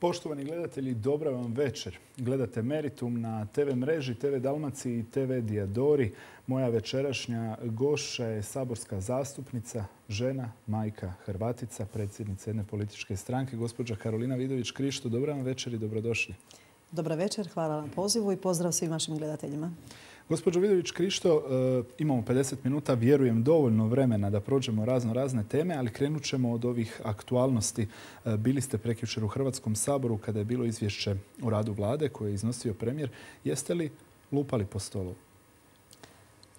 Poštovani gledatelji, dobra vam večer. Gledate Meritum na TV mreži, TV Dalmaciji i TV Diadori. Moja večerašnja gošća je saborska zastupnica, žena, majka, Hrvatica, predsjednica jedne političke stranke, gospođa Karolina Vidović-Krišto. Dobra vam večer i dobrodošli. Dobra večer, hvala na pozivu i pozdrav svim vašim gledateljima. Gospođo Vidović-Krišto, imamo 50 minuta, vjerujem dovoljno vremena da prođemo razne teme, ali krenut ćemo od ovih aktualnosti. Bili ste prekjučer u Hrvatskom saboru kada je bilo izvješće o radu vlade koje je iznosio premijer. Jeste li lupali po stolu?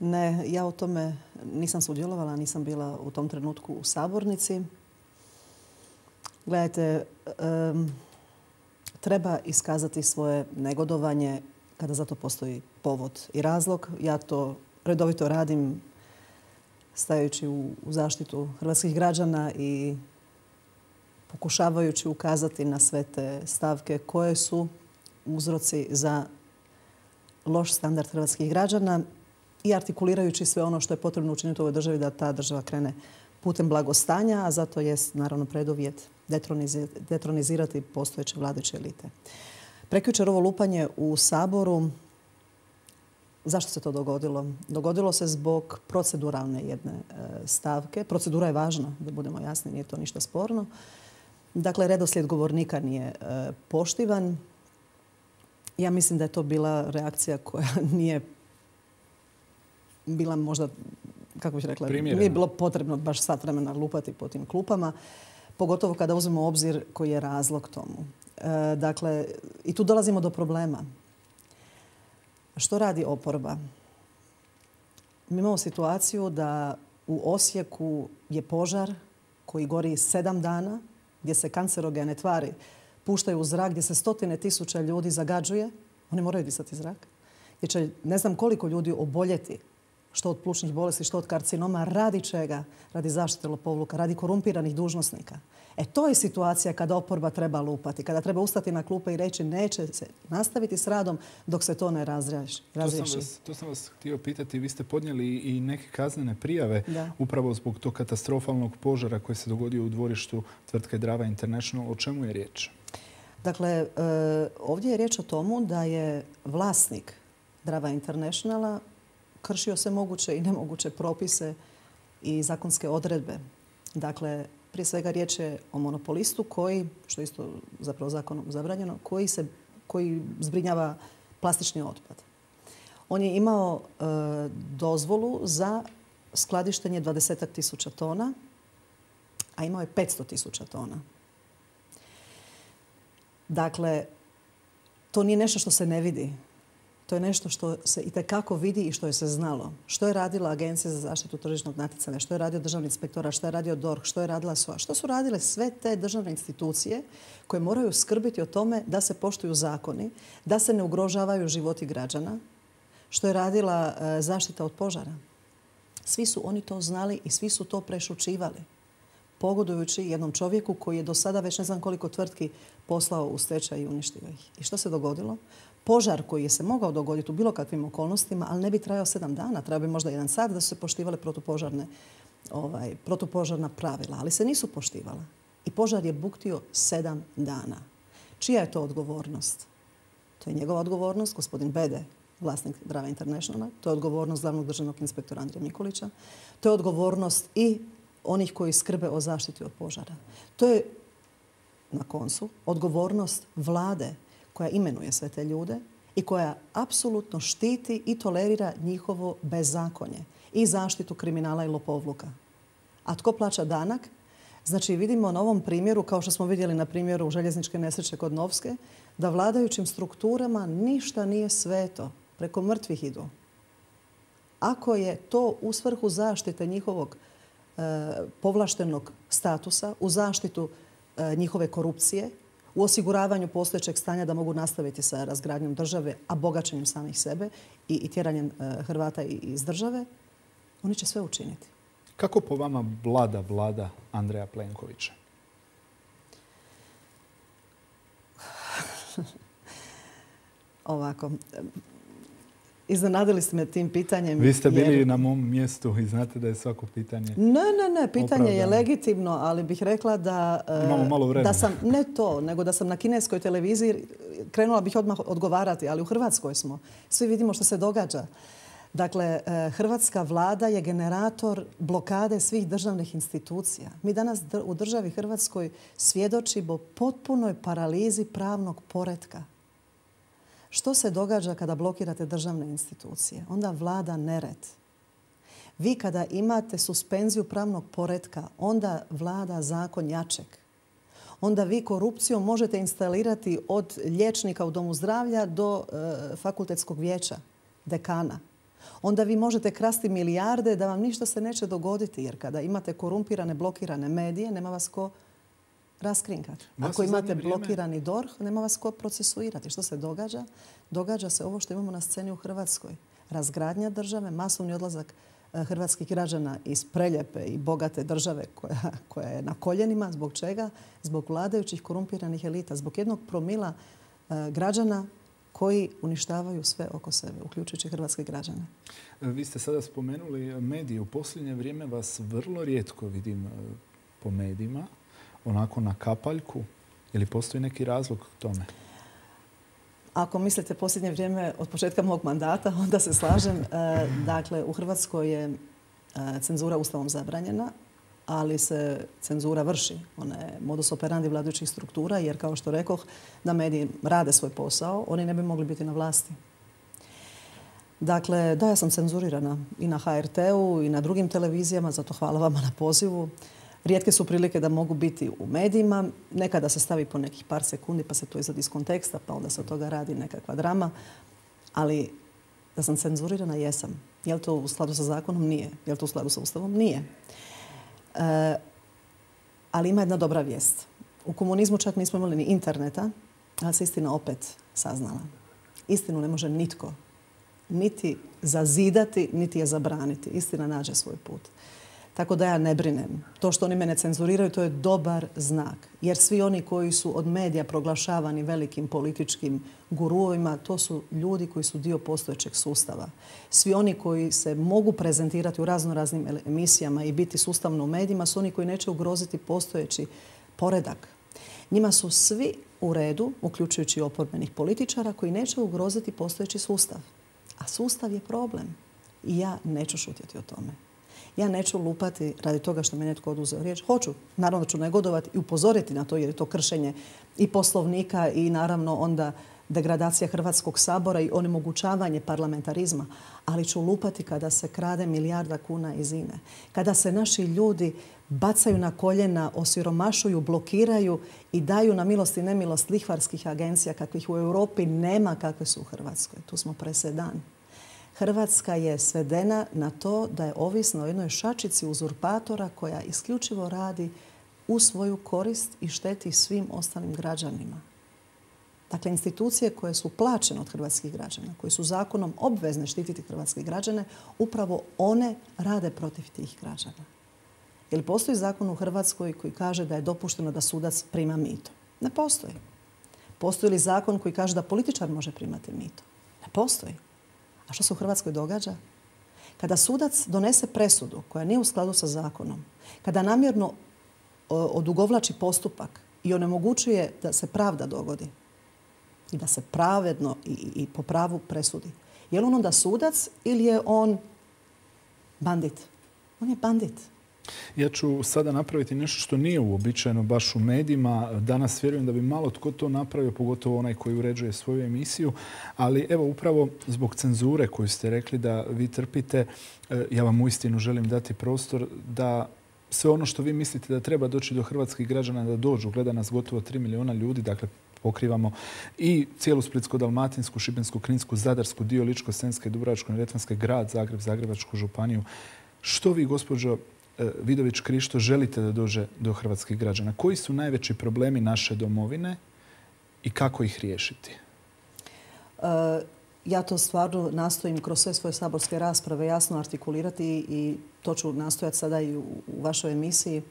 Ne, ja u tome nisam sudjelovala, nisam bila u tom trenutku u sabornici. Gledajte, treba iskazati svoje negodovanje kada za to postoji povod i razlog. Ja to redovito radim stajući u zaštitu hrvatskih građana i pokušavajući ukazati na sve te stavke koje su uzroci za loš standard hrvatskih građana i artikulirajući sve ono što je potrebno učiniti u ovoj državi da ta država krene putem blagostanja, a zato je naravno preduvjet detronizirati postojeće vladajuće elite. Prekjučer ovo lupanje u Saboru, zašto se to dogodilo? Dogodilo se zbog proceduralne jedne stavke. Procedura je važna, da budemo jasni, nije to ništa sporno. Dakle, redoslijed govornika nije poštivan. Ja mislim da je to bila reakcija koja nije bila možda, kako bih rekla, nije bilo potrebno baš sat vremena lupati po tim klupama, pogotovo kada uzmemo u obzir koji je razlog tomu. Dakle, i tu dolazimo do problema. Što radi oporba? Mi imamo situaciju da u Osijeku je požar koji gori 7 dana, gdje se kancerogene tvari puštaju u zrak, gdje se stotine tisuća ljudi zagađuje. Oni moraju disati zrak. Gdje će ne znam koliko ljudi oboljeti, što od plućnih bolesti, što od karcinoma. Radi čega? Radi zaštite lopovluka, radi korumpiranih dužnosnika. To je situacija kada oporba treba lupati, kada treba ustati na klupe i reći neće se nastaviti s radom dok se to ne razriješi. To sam vas htio pitati. Vi ste podnijeli i neke kaznene prijave upravo zbog tog katastrofalnog požara koji se dogodio u dvorištu tvrtke Drava International. O čemu je riječ? Dakle, ovdje je riječ o tomu da je vlasnik Drava Internationala kršio sve moguće i nemoguće propise i zakonske odredbe. Dakle, prije svega riječ je o monopolistu koji, što je isto zapravo zakonom zabranjeno, koji zbrinjava plastični otpad. On je imao dozvolu za skladištenje 20.000 tona, a imao je 500.000 tona. Dakle, to nije nešto što se ne vidi. To je nešto što se itekako vidi i što je se znalo. Što je radila Agencija za zaštitu tržišnog natjecanja, što je radio Državni inspektorat, što je radio DORH, što je radila SOA, što su radile sve te državne institucije koje moraju skrbiti o tome da se poštuju zakoni, da se ne ugrožavaju životi građana, što je radila zaštita od požara. Svi su oni to znali i svi su to prešućivali, pogodujući jednom čovjeku koji je do sada već ne znam koliko tvrtki poslao u stečaj i uništio ih. I što se dogodilo? Požar koji je se mogao dogoditi u bilo kakvim okolnostima, ali ne bi trajao 7 dana, trebao bi možda 1 sat da su se poštivale protupožarna pravila, ali se nisu poštivala. I požar je buktio 7 dana. Čija je to odgovornost? To je njegova odgovornost, gospodin Bede, vlasnik Drava Internationala. To je odgovornost glavnog državnog inspektora Andrije Mikulića. To je odgovornost i onih koji skrbe o zaštiti od požara. To je, na koncu, odgovornost vlade koja imenuje sve te ljude i koja apsolutno štiti i tolerira njihovo bezakonje i zaštitu kriminala i lopovluka. A tko plaća danak? Znači, vidimo na ovom primjeru, kao što smo vidjeli na primjeru željezničke nesreće kod Novske, da vladajućim strukturama ništa nije sveto. Preko mrtvih idu. Ako je to u svrhu zaštite njihovog povlaštenog statusa, u zaštitu njihove korupcije, u osiguravanju postojećeg stanja da mogu nastaviti sa razgradnjom države, a bogaćenjem samih sebe i tjeranjem Hrvata iz države, oni će sve učiniti. Kako po vama vlada vlada Andreja Plenkovića? Ovako. Iznenadili ste me tim pitanjem. Vi ste bili na mom mjestu i znate da je svako pitanje Ne. Pitanje je legitimno, ali bih rekla da... Imamo malo vremena. Ne to, nego da sam na kineskoj televiziji, krenula bih odmah odgovarati, ali u Hrvatskoj smo. Svi vidimo što se događa. Dakle, hrvatska vlada je generator blokade svih državnih institucija. Mi danas u državi Hrvatskoj svjedočimo potpunoj paralizi pravnog poretka. Što se događa kada blokirate državne institucije? Onda vlada nered. Vi kada imate suspenziju pravnog poretka, onda vlada zakon jačeg. Onda vi korupcijom možete instalirati od liječnika u domu zdravlja do fakultetskog vijeća, dekana. Onda vi možete krasti milijarde da vam ništa se neće dogoditi, jer kada imate korumpirane, blokirane medije, nema vas ko raskrinkati. Ako imate blokirani DORH, nema vas ko procesuirati. Što se događa? Događa se ovo što imamo na sceni u Hrvatskoj. Razgradnja države, masovni odlazak hrvatskih građana iz preljepe i bogate države koja je na koljenima. Zbog čega? Zbog vladajućih korumpiranih elita. Zbog jednog promila građana koji uništavaju sve oko sebe, uključujući hrvatske građane. Vi ste sada spomenuli medije. U posljednje vrijeme vas vrlo rijetko vidim po medijima, onako na kapaljku. Je li postoji neki razlog tome? Ako mislite posljednje vrijeme od početka mog mandata, onda se slažem. Dakle, u Hrvatskoj je cenzura Ustavom zabranjena, ali se cenzura vrši. Ona je modus operandi vladajućih struktura, jer kao što rekoh, da mediji rade svoj posao, oni ne bi mogli biti na vlasti. Dakle, da, ja sam cenzurirana i na HRT-u i na drugim televizijama, zato hvala vama na pozivu. Rijetke su prilike da mogu biti u medijima. Nekada se stavi po nekih par sekundi pa se to izvadi iz konteksta, pa onda se od toga radi nekakva drama. Ali da sam cenzurirana, jesam. Je li to u skladu sa zakonom? Nije. Je li to u skladu sa Ustavom? Nije. Ali ima jedna dobra vijest. U komunizmu čak nismo imali ni interneta, ali se istina opet saznala. Istinu ne može nitko niti zazidati, niti je zabraniti. Istina nađe svoj put. Tako da ja ne brinem. To što oni mene cenzuriraju, to je dobar znak. Jer svi oni koji su od medija proglašavani velikim političkim guruovima, to su ljudi koji su dio postojećeg sustava. Svi oni koji se mogu prezentirati u raznoraznim emisijama i biti sustavno u medijima su oni koji neće ugroziti postojeći poredak. Njima su svi u redu, uključujući oporbenih političara, koji neće ugroziti postojeći sustav. A sustav je problem. I ja neću šutjeti o tome. Ja neću lupati radi toga što mi netko oduzeo riječ. Hoću, naravno ću negodovati i upozoriti na to jer je to kršenje i Poslovnika i naravno onda degradacija Hrvatskog sabora i onemogućavanje parlamentarizma. Ali ću lupati kada se krade milijarda kuna iz INA-e. Kada se naši ljudi bacaju na koljena, osiromašuju, blokiraju i daju na milost i nemilost lihvarskih agencija kakvih u Europi nema, kakve su u Hrvatskoj. Tu smo presedan. Hrvatska je svedena na to da je ovisna o jednoj šačici uzurpatora koja isključivo radi u svoju korist i šteti svim ostalim građanima. Dakle, institucije koje su plaćene od hrvatskih građana, koje su zakonom obvezne štititi hrvatske građane, upravo one rade protiv tih građana. Je li postoji zakon u Hrvatskoj koji kaže da je dopušteno da sudac prima mito? Ne postoji. Postoji li zakon koji kaže da političar može primati mito? Ne postoji. A što se u Hrvatskoj događa? Kada sudac donese presudu koja nije u skladu sa zakonom, kada namjerno odugovlači postupak i onemogućuje da se pravda dogodi i da se pravedno i po pravu presudi, je li on onda sudac ili je on bandit? On je bandit. Ja ću sada napraviti nešto što nije uobičajeno baš u medijima. Danas vjerujem da bi malo tko to napravio, pogotovo onaj koji uređuje svoju emisiju. Ali evo upravo zbog cenzure koju ste rekli da vi trpite, ja vam uistinu želim dati prostor da sve ono što vi mislite da treba doći do hrvatskih građana da dođu. Gleda nas gotovo 3 milijuna ljudi, dakle pokrivamo i cijelu Splitsko-dalmatinsku, Šibensko-kninsku, Zadarsku, dio Ličko-senjske, Dubrovačko-neretvanske, grad Zagreb, Zagrebačku županiju. Što vi, gospođo Vidović Krišto, želite da dođe do hrvatskih građana? Koji su najveći problemi naše domovine i kako ih riješiti? Ja to stvarno nastojim kroz sve svoje saborske rasprave jasno artikulirati i to ću nastojati sada i u vašoj emisiji.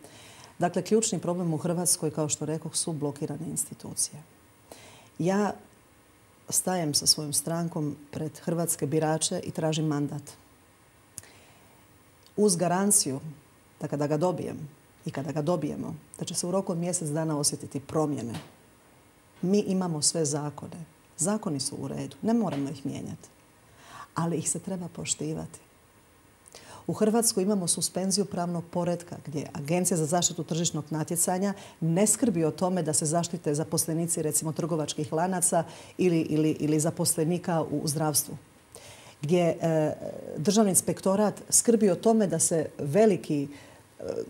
Dakle, ključni problem u Hrvatskoj, kao što rekoh, su blokirane institucije. Ja stajem sa svojom strankom pred hrvatske birače i tražim mandat. Uz garanciju da kada ga dobijem i kada ga dobijemo, da će se u roku od mjesec dana osjetiti promjene. Mi imamo sve zakone. Zakoni su u redu. Ne moramo ih mijenjati. Ali ih se treba poštivati. U Hrvatskoj imamo suspenziju pravnog poretka gdje Agencija za zaštitu tržišnog natjecanja ne skrbi o tome da se zaštite zaposlenici recimo trgovačkih lanaca ili zaposlenika u zdravstvu. Gdje Državni inspektorat skrbi o tome da se veliki,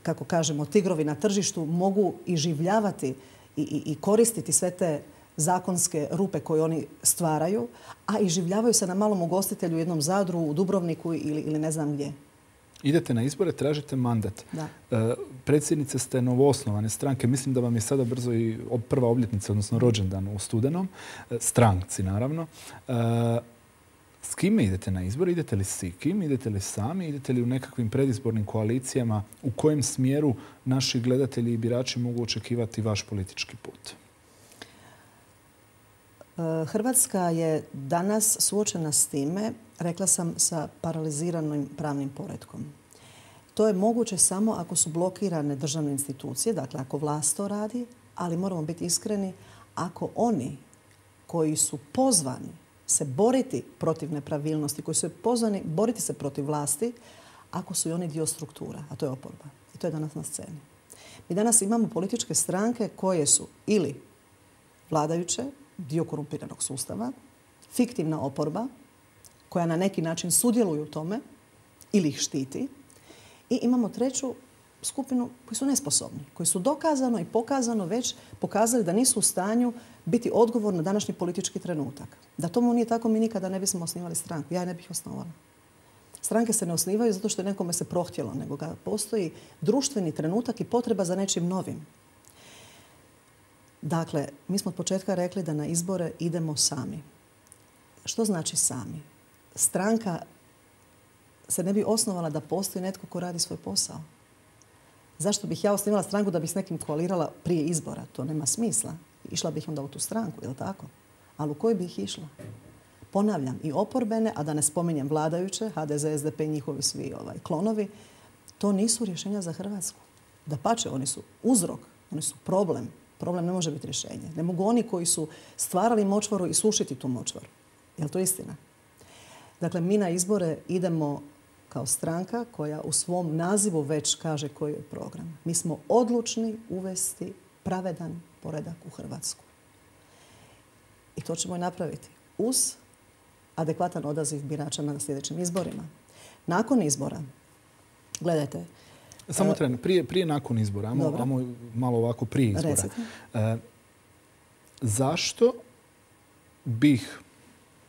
kako kažemo, tigrovi na tržištu mogu iživljavati i koristiti sve te zakonske rupe koje oni stvaraju, a iživljavaju se na malom ugostitelju u jednom Zadru, u Dubrovniku ili ne znam gdje. Idete na izbore, tražite mandat. Predsjednice ste novoosnovane stranke. Mislim da vam je sada brzo i prva obljetnica, odnosno rođendan u studenom. Stranci, naravno. S kime idete na izbor? Idete li s kim? Idete li sami? Idete li u nekakvim predizbornim koalicijama? U kojem smjeru naši gledatelji i birači mogu očekivati vaš politički put? Hrvatska je danas suočena s time, rekla sam, sa paraliziranim pravnim poretkom. To je moguće samo ako su blokirane državne institucije, dakle ako vlast to radi, ali moramo biti iskreni, ako oni koji su pozvani se boriti protiv nepravilnosti, koji su pozvani boriti se protiv vlasti, ako su i oni dio struktura, a to je oporba. I to je danas na sceni. Mi danas imamo političke stranke koje su ili vladajuće, dio korumpiranog sustava, fiktivna oporba koja na neki način sudjeluje u tome ili ih štiti. I imamo treću skupinu koji su nesposobni, koji su dokazano i pokazano već pokazali da nisu u stanju biti odgovorni na današnji politički trenutak. Da tomu nije tako, mi nikada ne bismo osnivali stranku. Ja ne bih osnovala. Stranke se ne osnivaju zato što je nekome se prohtjelo, nego ga postoji društveni trenutak i potreba za nečim novim. Dakle, mi smo od početka rekli da na izbore idemo sami. Što znači sami? Stranka se ne bi osnovala da postoji netko ko radi svoj posao. Zašto bih ja osnivala stranku da bih s nekim koalirala prije izbora? To nema smisla. Išla bih onda u tu stranku, je li tako? Ali u koju bih išla? Ponavljam, i oporbene, a da ne spominjem vladajuće, HDZ, SDP i njihovi svi klonovi, to nisu rješenja za Hrvatsku. Dapače, oni su uzrok, oni su problem. Problem ne može biti rješenje. Ne mogu oni koji su stvarali močvaru i sušiti tu močvaru. Je li to istina? Dakle, mi na izbore idemo kao stranka koja u svom nazivu već kaže koji je program. Mi smo odlučni uvesti pravedan poredak u Hrvatsku. I to ćemo i napraviti uz adekvatan odaziv birača na sljedećim izborima. Nakon izbora, gledajte... Samo tren, prije nakon izbora, ajmo malo ovako prije izbora. Zašto bih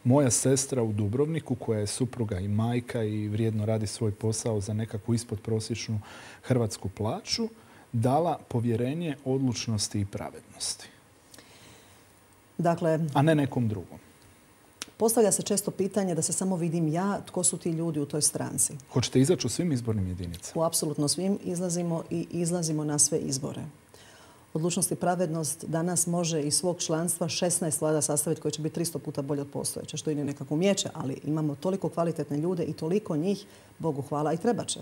moja sestra u Dubrovniku, koja je supruga i majka i vrijedno radi svoj posao za nekakvu ispodprosječnu hrvatsku plaću, dala povjerenje odlučnosti i pravednosti? Dakle, a ne nekom drugom. Postavlja se često pitanje da se samo vidim ja, tko su ti ljudi u toj stranci. Hoćete izaći u svim izbornim jedinicama? U apsolutno svim izlazimo i izlazimo na sve izbore. Odlučnost i pravednost danas može iz svog članstva 16 vlada sastaviti koji će biti 300 puta bolje od postojeće, što i nije nekako umijeće, ali imamo toliko kvalitetne ljude i toliko njih, Bogu hvala, i treba će.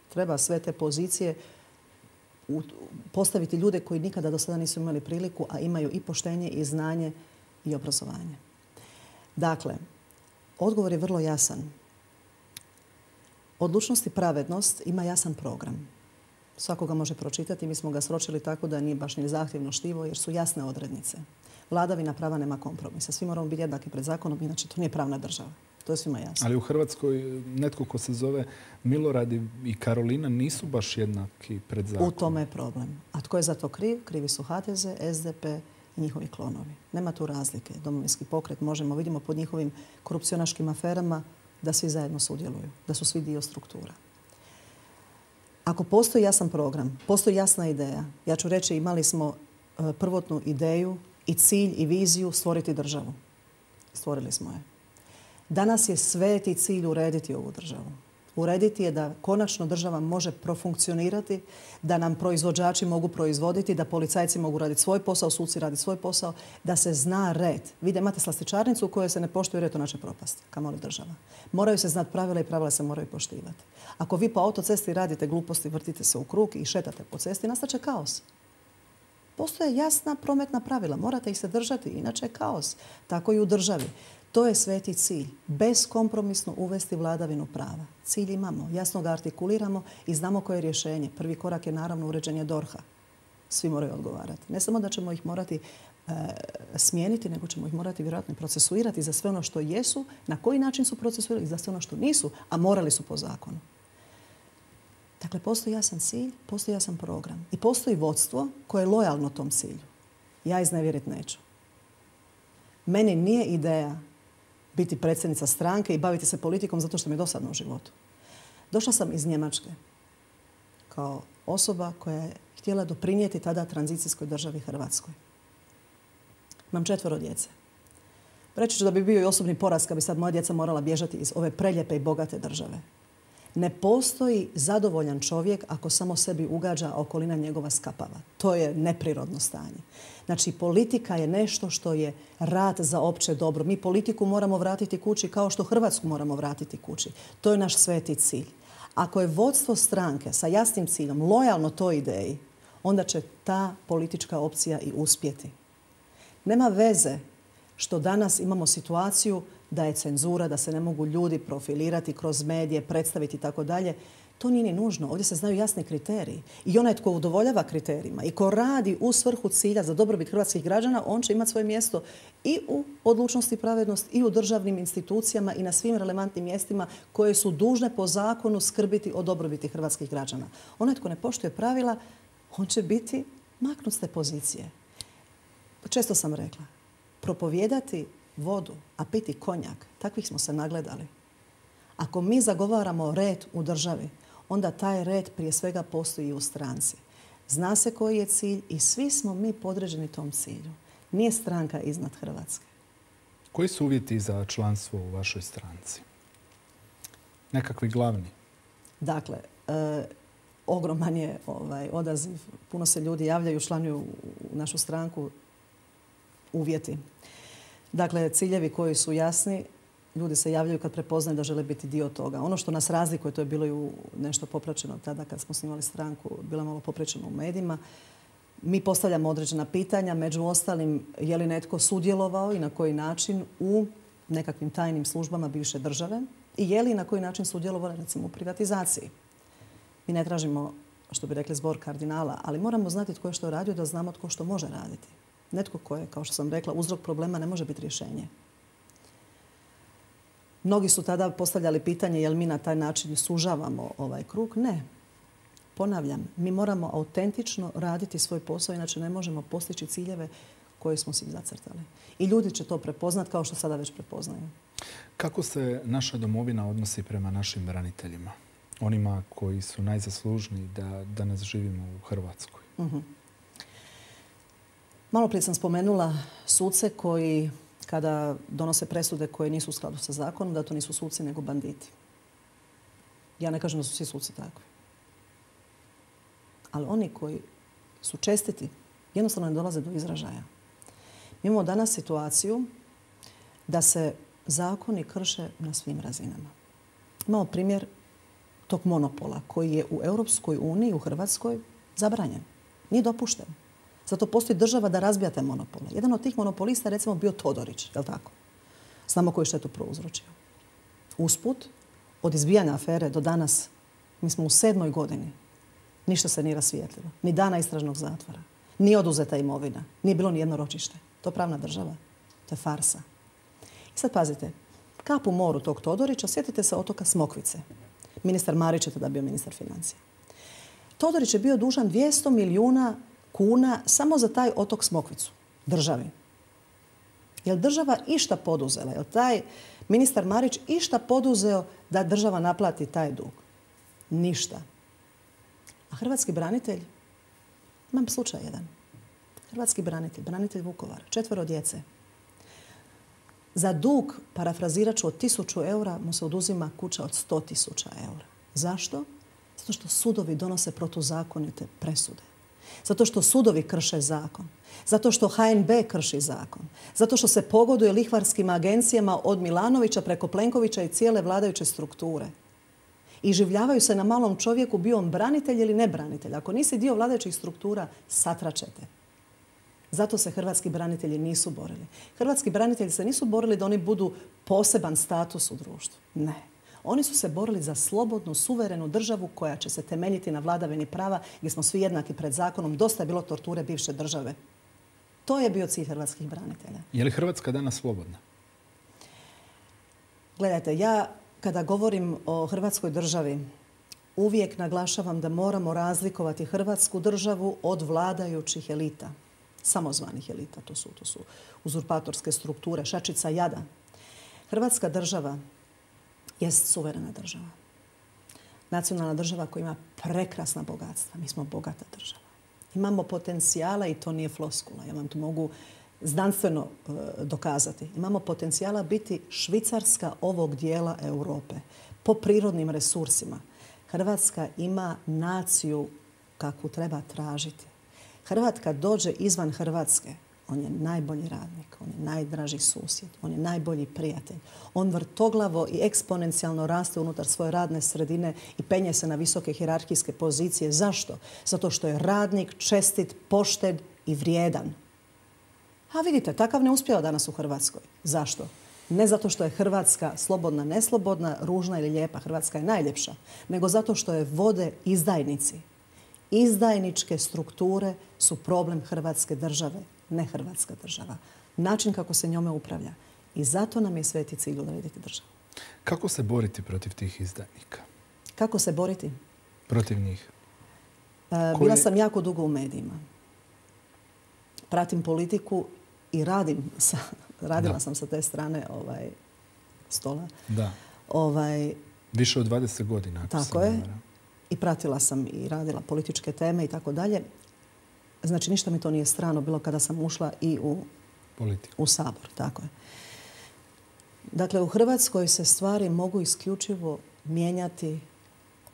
Treba sve te pozicije postaviti ljude koji nikada do sada nisu imali priliku, a imaju i poštenje i znanje i obrazovanje. Dakle, odgovor je vrlo jasan. Odlučnost i pravednost ima jasan program. Svako ga može pročitati. Mi smo ga sročili tako da nije baš ni zahtjevno štivo jer su jasne odrednice. Vladavina prava nema kompromisa. Svi moramo biti jednaki pred zakonom, inače to nije pravna država. To je svima jasno. Ali u Hrvatskoj netko ko se zove Milorad i Karolina nisu baš jednaki pred zakonom. U tome je problem. A tko je za to kriv? Krivi su HDZ, SDP i njihovi klonovi. Nema tu razlike. Domovinski pokret možemo, vidimo pod njihovim korupcionaškim aferama da svi zajedno sudjeluju, da su svi dio struktura. Ako postoji jasan program, postoji jasna ideja, ja ću reći imali smo prvotnu ideju i cilj i viziju stvoriti državu. Stvorili smo je. Danas je sveti cilj urediti ovu državu. Urediti je da konačno država može profunkcionirati, da nam proizvođači mogu proizvoditi, da policajci mogu raditi svoj posao, suci raditi svoj posao, da se zna red. Vi da imate slastičarnicu u kojoj se ne poštuje red, to neće propasti, kamoli država. Moraju se znati pravila i pravila se moraju poštivati. Ako vi po autocesti radite gluposti, vrtite se u krug i šetate po cesti, nastaće kaos. Postoje jasna prometna pravila, morate ih se držati, inače je kaos. Tako i u državi. To je sveti cilj. Beskompromisno uvesti vladavinu prava. Cilj imamo, jasno ga artikuliramo i znamo koje je rješenje. Prvi korak je naravno uređenje DORH-a. Svi moraju odgovarati. Ne samo da ćemo ih morati smijeniti, nego ćemo ih morati vjerojatno procesuirati za sve ono što jesu, na koji način su procesuirali i za sve ono što nisu, a morali su po zakonu. Dakle, postoji jasan cilj, postoji jasan program i postoji vodstvo koje je lojalno tom cilju. Ja iznevjeriti neću. Meni nije ideja biti predsjednica stranke i baviti se politikom zato što mi je dosadno u životu. Došla sam iz Njemačke kao osoba koja je htjela doprinijeti tada tranzicijskoj državi Hrvatskoj. Imam 4 djece. Reći ću da bi bio i osobni poraz kad bi sad moja djeca morala bježati iz ove preljepe i bogate države. Ne postoji zadovoljan čovjek ako samo sebi ugađa, a okolina njegova skapava. To je neprirodno stanje. Znači, politika je nešto što je rad za opće dobro. Mi politiku moramo vratiti kući kao što Hrvatsku moramo vratiti kući. To je naš sveti cilj. Ako je vodstvo stranke sa jasnim ciljem lojalno toj ideji, onda će ta politička opcija i uspjeti. Nema veze što danas imamo situaciju da je cenzura, da se ne mogu ljudi profilirati kroz medije, predstaviti i tako dalje. To nije ni nužno. Ovdje se znaju jasni kriteriji. I onaj tko udovoljava kriterijima i ko radi u svrhu cilja za dobrobit hrvatskih građana, on će imati svoje mjesto i u odlučnosti i pravednost i u državnim institucijama i na svim relevantnim mjestima koje su dužne po zakonu skrbiti o dobrobiti hrvatskih građana. Onaj tko ne poštuje pravila, on će biti maknut s te pozicije. Često sam rekla, propovijedati vodu, a piti konjak, takvih smo se nagledali. Ako mi zagovaramo red u državi, onda taj red prije svega postoji i u stranci. Zna se koji je cilj i svi smo mi podređeni tom cilju. Nije stranka iznad Hrvatske. Koji su uvjeti za članstvo u vašoj stranci? Nekakvi glavni? Dakle, ogroman je odaziv. Puno se ljudi javljaju, članuju u našu stranku. Uvjeti. Dakle, ciljevi koji su jasni, ljudi se javljaju kad prepoznaju da žele biti dio toga. Ono što nas razlikuje, to je bilo i nešto popraćeno tada kad smo snimali stranku, bilo malo popraćeno u medijima. Mi postavljamo određena pitanja, među ostalim je li netko sudjelovao i na koji način u nekakvim tajnim službama bivše države i je li na koji način sudjelovao recimo u privatizaciji. Mi ne tražimo, što bi rekli, zbor kardinala, ali moramo znati tko je što radio da znamo tko što može raditi. Netko ko je, kao što sam rekla, uzrok problema ne može biti rješenje. Mnogi su tada postavljali pitanje je li mi na taj način sužavamo ovaj krug. Ne. Ponavljam, mi moramo autentično raditi svoj posao, inače ne možemo postići ciljeve koje smo si zacrtali. I ljudi će to prepoznati kao što sada već prepoznaju. Kako se naša domovina odnosi prema našim braniteljima? Onima koji su najzaslužniji da danas živimo u Hrvatskoj. Malo prije sam spomenula suce koji kada donose presude koje nisu u skladu sa zakonom, da to nisu suci nego banditi. Ja ne kažem da su svi suci takvi. Ali oni koji su čestiti jednostavno ne dolaze do izražaja. Mi imamo danas situaciju da se zakoni krše na svim razinama. Imamo primjer tog monopola koji je u Europskoj uniji, u Hrvatskoj, zabranjen. Nije dopušten. Zato postoji država da razbija te monopole. Jedan od tih monopolista je recimo bio Todorić, je li tako? Znamo koju štetu prouzročio. Usput, od izbijanja afere do danas, mi smo u 7. godini. Ništa se nije rasvijetlilo. Ni dana istražnog zatvora. Nije oduzeta imovina. Nije bilo ni jedno ročište. To je pravna država. To je farsa. I sad pazite, kap u moru tog Todorića, sjetite se otoka Smokvice. Ministar Marić je tada bio ministar financija. Todorić je bio dužan 200 milijuna kuna samo za taj otok Smokvicu, državi. Je li država išta poduzela? Je li taj ministar Marić išta poduzeo da država naplati taj dug? Ništa. A hrvatski branitelj, imam slučaj jedan. Hrvatski branitelj, branitelj Vukovara, 4 djece. Za dug, parafrazirat ću, od 1000 eura mu se oduzima kuća od 100.000 eura. Zašto? Zato što sudovi donose protuzakonite presude. Zato što sudovi krše zakon. Zato što HNB krši zakon. Zato što se pogoduje lihvarskim agencijama od Milanovića preko Plenkovića i cijele vladajuće strukture. I življavaju se na malom čovjeku, bio on branitelj ili ne branitelj. Ako nisi dio vladajućih struktura, satračete. Zato se hrvatski branitelji nisu borili. Hrvatski branitelji se nisu borili da oni budu poseban status u društvu. Ne. Oni su se borili za slobodnu, suverenu državu koja će se temeljiti na vladavini prava gdje smo svi jednaki pred zakonom. Dosta je bilo torture bivše države. To je bio cilj hrvatskih branitelja. Je li Hrvatska danas slobodna? Gledajte, ja kada govorim o Hrvatskoj državi, uvijek naglašavam da moramo razlikovati Hrvatsku državu od vladajućih elita. Samozvanih elita. To su uzurpatorske strukture, šačica jada. Hrvatska država jest suverena država. Nacionalna država koja ima prekrasna bogatstva. Mi smo bogata država. Imamo potencijala i to nije floskula. Ja vam to mogu znanstveno dokazati. Imamo potencijala biti Švicarska ovog dijela Europe po prirodnim resursima. Hrvatska ima naciju kakvu treba tražiti. Hrvat kad dođe izvan Hrvatske, on je najbolji radnik, on je najdraži susjed, on je najbolji prijatelj. On vrtoglavo i eksponencijalno raste unutar svoje radne sredine i penje se na visoke hijerarhijske pozicije. Zašto? Zato što je radnik, čestit, pošten i vrijedan. A vidite, takav ne uspijeva danas u Hrvatskoj. Zašto? Ne zato što je Hrvatska slobodna, neslobodna, ružna ili lijepa. Hrvatska je najljepša. Nego zato što je vode izdajnici. Izdajničke strukture su problem Hrvatske države, ne Hrvatska država. Način kako se njome upravlja. I zato nam je sveti cilj urediti državu. Kako se boriti protiv tih izdajnika? Kako se boriti? Protiv njih. Bila sam jako dugo u medijima. Pratim politiku i radila sam sa te strane stola. Da. Više od 20 godina. Tako je. I pratila sam i radila političke teme i tako dalje. Znači, ništa mi to nije strano bilo kada sam ušla i u Sabor. Tako je. Dakle, u Hrvatskoj se stvari mogu isključivo mijenjati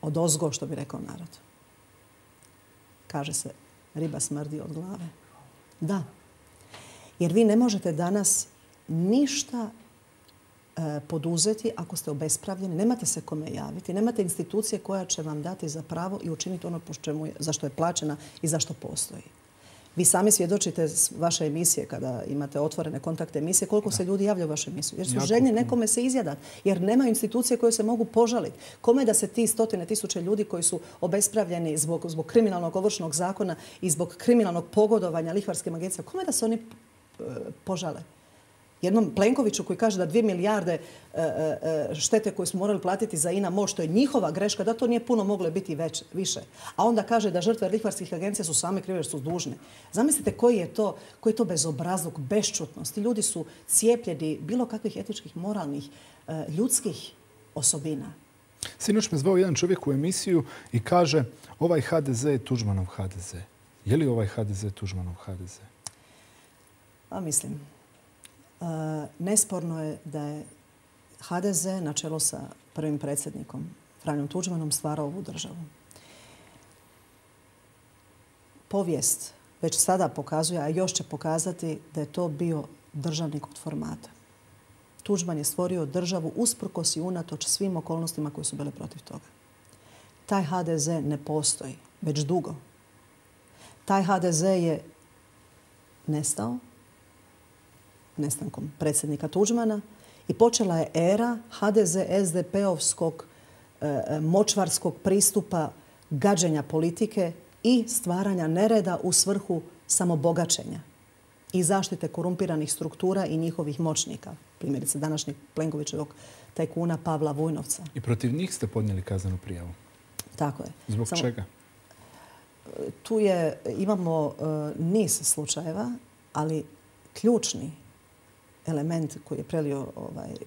odozgo, što bi rekao narod. Kaže se, riba smrdi od glave. Da. Jer vi ne možete danas ništa poduzeti ako ste obespravljeni. Nemate se kome javiti. Nemate institucije koja će vam dati za pravo i učiniti ono za što je plaćena i za što postoji. Vi sami svjedočite s vaše emisije, kada imate otvorene kontakte emisije, koliko se ljudi javlja u vašu emisiju. Jer su željni nekome se izjadati. Jer nemaju institucije koje se mogu požaliti. Kome da se ti 100.000 ljudi koji su obespravljeni zbog kriminalnog ovršnog zakona i zbog kriminalnog pogodovanja lihvarskim agencijama, kome da se oni požale? Jednom Plenkoviću koji kaže da 2 milijarde štete koje smo morali platiti za INA MOL, što je njihova greška, da to nije puno moglo biti više. A onda kaže da žrtve lihvarskih agencija su same krive jer su dužne. Zamislite koji je to bezobrazluk, bešćutnost. Ti ljudi su cijepljeni bilo kakvih etičkih, moralnih, ljudskih osobina. Sinoć me zvao jedan čovjek u emisiju i kaže ovaj HDZ je Tuđmanov HDZ. Je li ovaj HDZ Tuđmanov HDZ? Pa mislim. Nesporno je da je HDZ na čelu sa prvim predsjednikom Franjom Tuđmanom stvarao ovu državu. Povijest već sada pokazuje, a još će pokazati da je to bio državnik od formata. Tuđman je stvorio državu usprkos i unatoč svim okolnostima koje su bile protiv toga. Taj HDZ ne postoji već dugo. Taj HDZ je nestao nestankom predsjednika Tuđmana i počela je era HDZ-SDP-ovskog močvarskog pristupa gađenja politike i stvaranja nereda u svrhu samobogaćenja i zaštite korumpiranih struktura i njihovih moćnika. Primjerice današnjeg Plenkovićevog tajkuna Pavla Vujnovca. I protiv njih ste podnijeli kaznenu prijavu? Tako je. Zbog čega? Tu imamo niz slučajeva, ali ključni element koji je prelio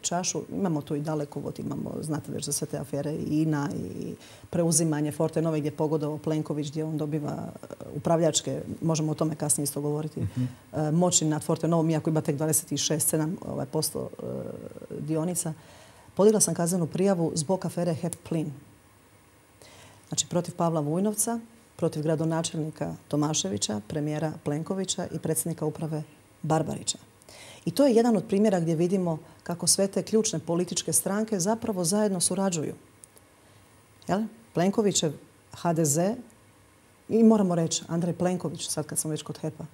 čašu. Imamo tu i Dalekovod, imamo, znate već za sve te afere, i INA i preuzimanje Fortenove gdje je pogodovao Plenković, gdje on dobiva upravljačke, možemo o tome kasnije isto govoriti, moći nad Fortenovom, iako ima tek 26,7% dionica. Podigla sam kaznenu prijavu zbog afere HEP Plin. Znači protiv Pavla Vujnovca, protiv gradonačelnika Tomaševića, premijera Plenkovića i predsjednika uprave Barbarića. I to je jedan od primjera gdje vidimo kako sve te ključne političke stranke zapravo zajedno surađuju. Plenkovićev HDZ i moramo reći Andrej Plenković, sad kad sam već kod HEP-a.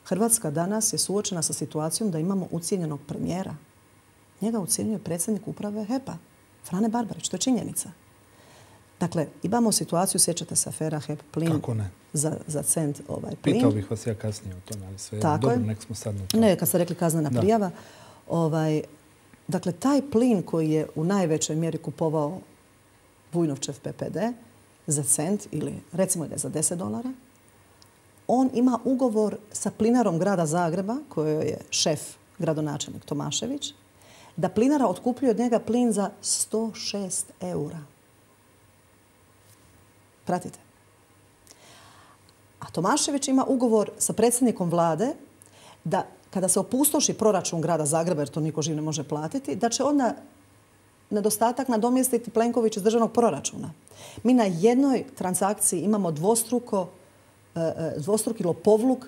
Hrvatska danas je suočena sa situacijom da imamo ucijenjenog premijera. Njega ucijenjuje predsjednik uprave HEP-a, Frane Barbarić. To je činjenica. Dakle, imamo situaciju, sjećate se afera HEP Plin. Kako ne? Za cent plin. Pitao bih vas ja kasnije o tome, ali sve je dobro, nek smo sad na to. Ne, kad ste rekli kaznena prijava. Dakle, taj plin koji je u najvećoj mjeri kupovao Vujnovčev PPD za cent ili recimo da je za $10, on ima ugovor sa plinarom grada Zagreba, kojoj je šef gradonačelnik Tomašević, da plinara otkupljuje od njega plin za 106 eura. Pratite. A Tomašević ima ugovor sa predsjednikom vlade da kada se opustoši proračun grada Zagreba, jer to niko živ ne može platiti, da će onda nedostatak nadomjestiti Plenković iz državnog proračuna. Mi na jednoj transakciji imamo dvostruki lopovluk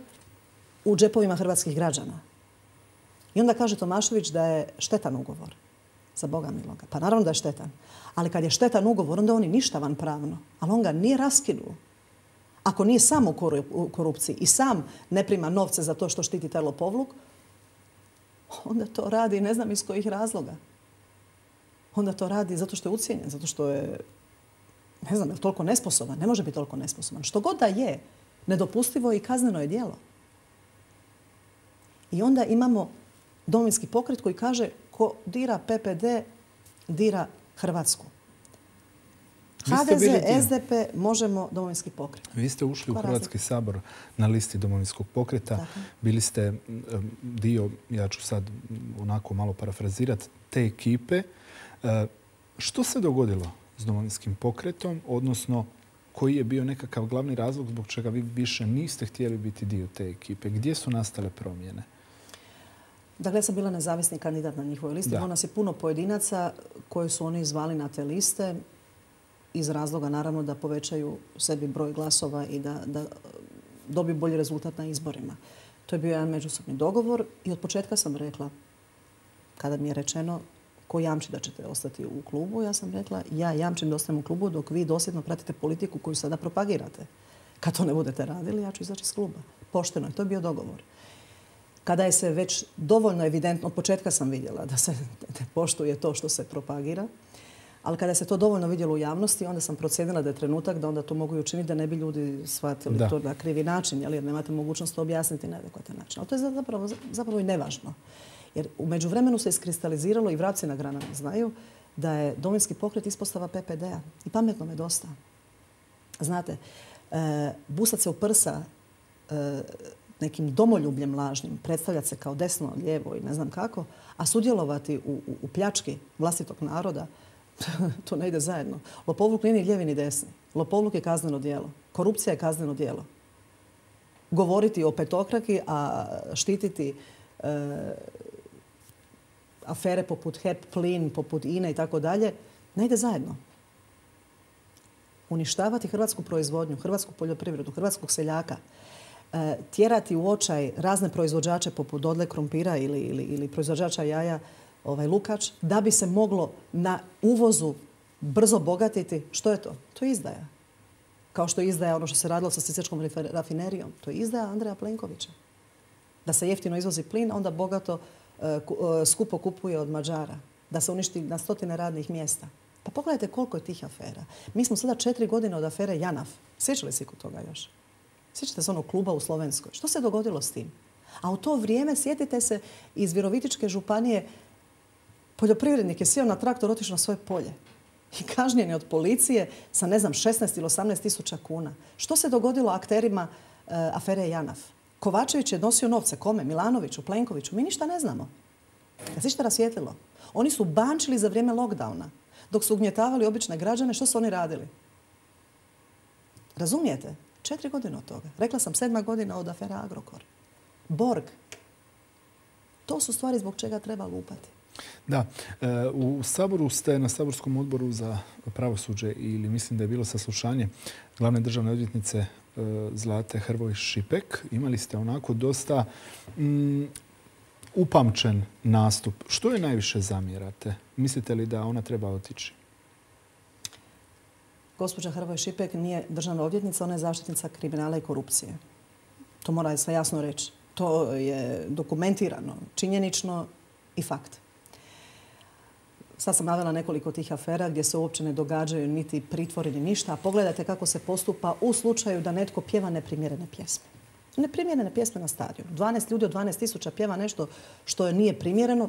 u džepovima hrvatskih građana. I onda kaže Tomašević da je štetan ugovor. Za Boga miloga. Pa naravno da je štetan. Ali kad je štetan ugovor, onda on je ništavan pravno. Ali on ga nije raskinuo. Ako nije sam u korupciji i sam ne prima novce za to što štiti taj lopovluk, onda to radi ne znam iz kojih razloga. Onda to radi zato što je ucijenjen, zato što je, ne znam, je toliko nesposoban. Ne može biti toliko nesposoban. Što god da je, nedopustivo i kazneno je djelo. I onda imamo Domovinski pokret koji kaže ko dira PPD, dira Hrvatsku. HDZ, SDP, Možemo, Domovinski pokret. Vi ste ušli u Hrvatski sabor na listi Domovinskog pokreta. Tako. Bili ste dio, ja ću sad onako malo parafrazirati, te ekipe. Što se dogodilo s Domovinskim pokretom, odnosno koji je bio nekakav glavni razlog zbog čega vi više niste htjeli biti dio te ekipe? Gdje su nastale promjene? Dakle, ja sam bila nezavisni kandidat na njihovoj listi. Bilo nas je puno pojedinaca koje su oni zvali na te liste iz razloga, naravno, da povećaju sebi broj glasova i da dobiju bolji rezultat na izborima. To je bio jedan međusobni dogovor i od početka sam rekla, kada mi je rečeno ko jamči da ćete ostati u klubu, ja sam rekla ja jamčim da ostanem u klubu dok vi dosljedno pratite politiku koju sada propagirate. Kad to ne budete radili, ja ću izaći iz kluba. Pošteno je, to je bio dogovor. Kada je se već dovoljno evidentno, od početka sam vidjela da se ne poštuje to što se propagira, ali kada se to dovoljno vidjelo u javnosti, onda sam procijenila da je trenutak da onda to mogu i učiniti da ne bi ljudi shvatili to na krivi način, jer nemate mogućnost to objasniti na adekvatan način. Ali to je zapravo i nevažno. Jer u međuvremenu se iskristaliziralo i vrapci na granama znaju da je Domovinski pokret ispostava PPD-a. I pametno me dosta. Znate, busat se u prsa nekim domoljubljem lažnim, predstavljati se kao desno, lijevo i ne znam kako, a sudjelovati u pljački vlastitog naroda, to ne ide zajedno. Lopovluk nije ni lijevi ni desni. Lopovluk je kazneno djelo. Korupcija je kazneno djelo. Govoriti o petokraki, a štititi afere poput HEP, Plin, poput INA i tako dalje, ne ide zajedno. Uništavati hrvatsku proizvodnju, hrvatsku poljoprivredu, hrvatskog seljaka, tjerati u očaj razne proizvođače poput Dodle krompira ili proizvođača jaja Lukač, da bi se moglo na uvozu brzo bogatiti. Što je to? To je izdaja. Kao što je izdaja ono što se radilo sa sisačkom rafinerijom. To je izdaja Andreja Plenkovića. Da se jeftino izvozi plin, onda bogato skupo kupuje od Mađara. Da se uništi na stotine radnih mjesta. Pa pogledajte koliko je tih afera. Mi smo sada 4 godine od afere JANAF. Sjećali se kod toga još? Sjećate se onog kluba u Slovenskoj? Što se dogodilo s tim? A u to vrijeme, sjetite se, iz Virovitičke županije poljoprivrednik je sjeo na traktor, otišao na svoje polje. I kažnjen je od policije sa, ne znam, 16 ili 18 tisuća kuna. Što se dogodilo akterima afere JANAF? Kovačević je nosio novce. Kome? Milanoviću, Plenkoviću? Mi ništa ne znamo. Kad se išta rasvijetlilo? Oni su bančili za vrijeme lockdowna. Dok su ugnjetavali obične građane, što su oni radili? Razumijete? 4 godine od toga. Rekla sam 7. godina od afera Agrokor. Borg. To su stvari zbog čega treba lupati. Da. U Saboru ste na Saborskom odboru za pravosuđe ili mislim da je bilo saslušanje glavne državne odvjetnice Zlate Hrvoj Šipek. Imali ste onako dosta upamćen nastup. Što je najviše zamjerate? Mislite li da ona treba otići? Gospođa Hrvoj Šipek nije državna odvjetnica, ona je zaštitnica kriminala i korupcije. To mora se jasno reći. To je dokumentirano, činjenično i fakt. Sad sam navela nekoliko tih afera gdje se uopće ne događaju niti pritvori ni ništa. A pogledajte kako se postupa u slučaju da netko pjeva neprimjerene pjesme. Neprimjerene pjesme na stadionu. 12 ljudi od 12.000 pjeva nešto što nije primjereno.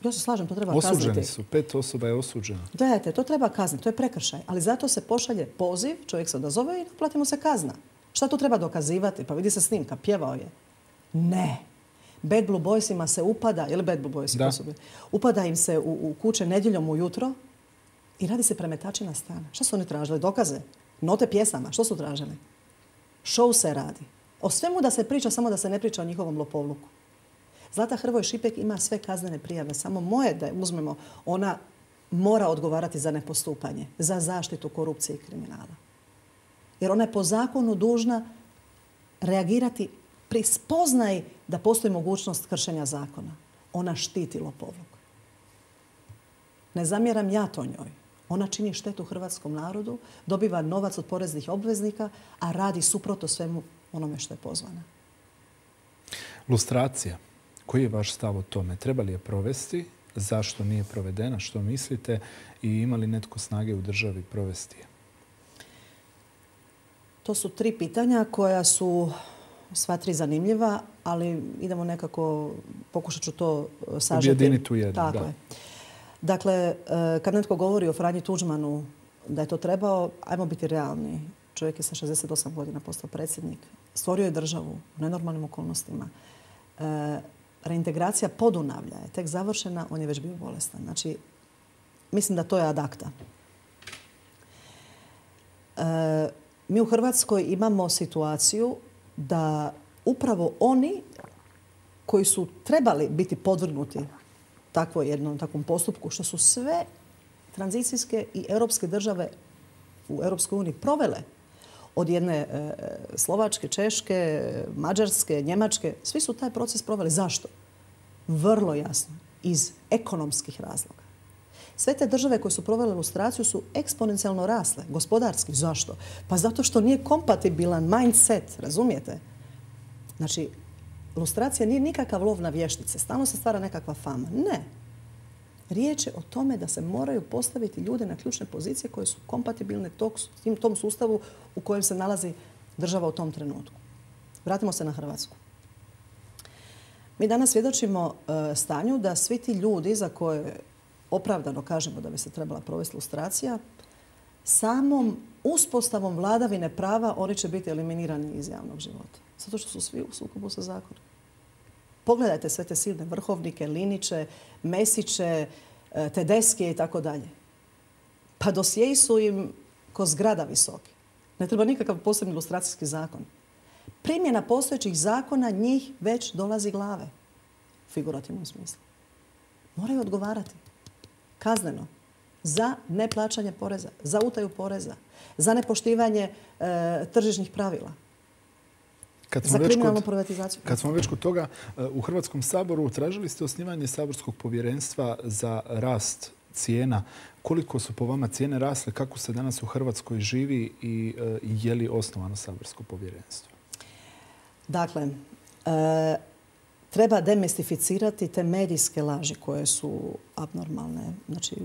Ja se slažem, to treba kazniti. Osuđeni su. 5 osoba je osuđeno. Gledajte, to treba kazniti, to je prekršaj. Ali zato se pošalje poziv, čovjek se odazove i naplatimo se kazna. Šta tu treba dokazivati? Pa vidi se snimka, pjevao je. Ne. Bad Blue Boysima se upada, ili Bad Blue Boysi osobe, upada im se u kuće nedjeljom ujutro i radi se premetačina stana. Šta su oni tražili? Dokaze? Note pjesama? Što su tražili? Show se radi. O svemu da se priča, samo da se ne priča o njihovom lopovluku. Zlata Hrvoj Šipek ima sve kaznene prijave. Samo moje da je uzmemo, ona mora odgovarati za nepostupanje, za zaštitu korupcije i kriminala. Jer ona je po zakonu dužna reagirati pri spoznaji da postoji mogućnost kršenja zakona. Ona štiti lopovluk. Ne zamjeram ja to njoj. Ona čini štetu hrvatskom narodu, dobiva novac od poreznih obveznika, a radi suprotno svemu onome što je pozvana. Lustracija. Koji je vaš stav o tome? Treba li je provesti? Zašto nije provedena? Što mislite? I ima li netko snage u državi provesti je? To su 3 pitanja koja su sva 3 zanimljiva, ali idemo nekako, pokušat ću to sažeti. Objediniti u jednu, tako je. Dakle, kad netko govori o Franji Tuđmanu da je to trebao, ajmo biti realni. Čovjek je sa 68 godina postao predsjednik. Stvorio je državu u nenormalnim okolnostima. Reintegracija Podunavlja je tek završena, on je već bio bolestan. Znači, mislim da to je ad acta. Mi u Hrvatskoj imamo situaciju da upravo oni koji su trebali biti podvrgnuti takvom postupku, što su sve tranzicijske i europske države u Europskoj uniji provele, od jedne Slovačke, Češke, Mađarske, Njemačke, svi su taj proces proveli. Zašto? Vrlo jasno. Iz ekonomskih razloga. Sve te države koje su provele lustraciju su eksponencijalno rasle. Gospodarski. Zašto? Pa zato što nije kompatibilan mindset. Razumijete? Znači, lustracija nije nikakav lov na vještice. Stalno se stvara nekakva fama. Ne. Riječ je o tome da se moraju postaviti ljude na ključne pozicije koje su kompatibilne tom sustavu u kojem se nalazi država u tom trenutku. Vratimo se na Hrvatsku. Mi danas svjedočimo stanju da svi ti ljudi za koje opravdano kažemo da bi se trebala provesti lustracija, samom uspostavom vladavine prava oni će biti eliminirani iz javnog života. Zato što su svi u sukobu sa zakonom. Pogledajte sve te silne vrhovnike, Liniće, Mesiće, Tedeske i tako dalje. Pa dosjeji su im ko zgrada visoki. Ne treba nikakav posebni lustracijski zakon. Primjena postojećih zakona njih već dolazi glave. U figurativnom smislu. Moraju odgovarati. Kazneno. Za neplaćanje poreza. Za utaju poreza. Za nepoštivanje tržišnih pravila. Za kriminalnu privatizaciju. Kad smo već kod toga, u Hrvatskom saboru tražili ste osnivanje saborskog povjerenstva za rast cijena. Koliko su po vama cijene rasle? Kako se danas u Hrvatskoj živi i je li osnovano saborsko povjerenstvo? Dakle, treba demistificirati te medijske laži koje su abnormalne. Znači,